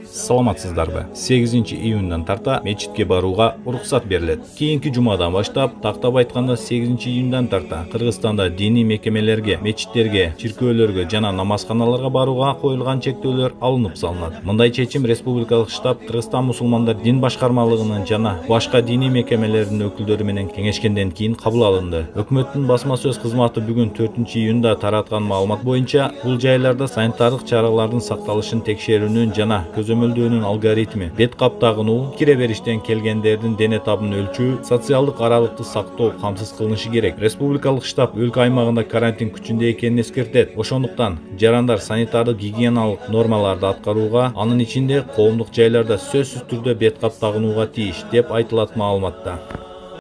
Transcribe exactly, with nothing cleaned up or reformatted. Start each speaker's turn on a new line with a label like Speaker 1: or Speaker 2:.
Speaker 1: Саламатсыздарбы? сегизинчи июндан тарта мечитке барууга уруксат берилет. Кийинки жумадан баштап, тактап айтканда сегизинчи июндан тарта Кыргызстанда диний мекемелерге, мечиттерге, чиркөөлөргө жана намазканаларга барууга коюлган чектөөлөр алынып салынат. Мындай чечим Республикалык штаб Кыргызстан мусулмандар дин башкармалыгынын жана башка диний мекемелердин өкүлдөрү менен кеңешкенден кийин кабыл алынды. Өкмөттүн басма сөз кызматы бүгүн төртүнчү июнда тараткан маалымат боюнча, бул жайларда санитардык чаралардын сакталышын текшерүүнүн жана көзөмөлдөөнүн алгоритми, бет кап тагынуу, кире бериштен келгендердин дене табын өлчөө, социалдык аралыкты сактоо камсыз кылынышы керек. Республикалык штаб өлкө аймагында карантин күчүндө экенин эскертет. Ошондуктан жарандар санитардык гигиеналык нормаларды аткарууга, анын ичинде коомдук жайларда сөзсүз түрдө бет кап тагынууга тийиш, деп айтылат маалыматта.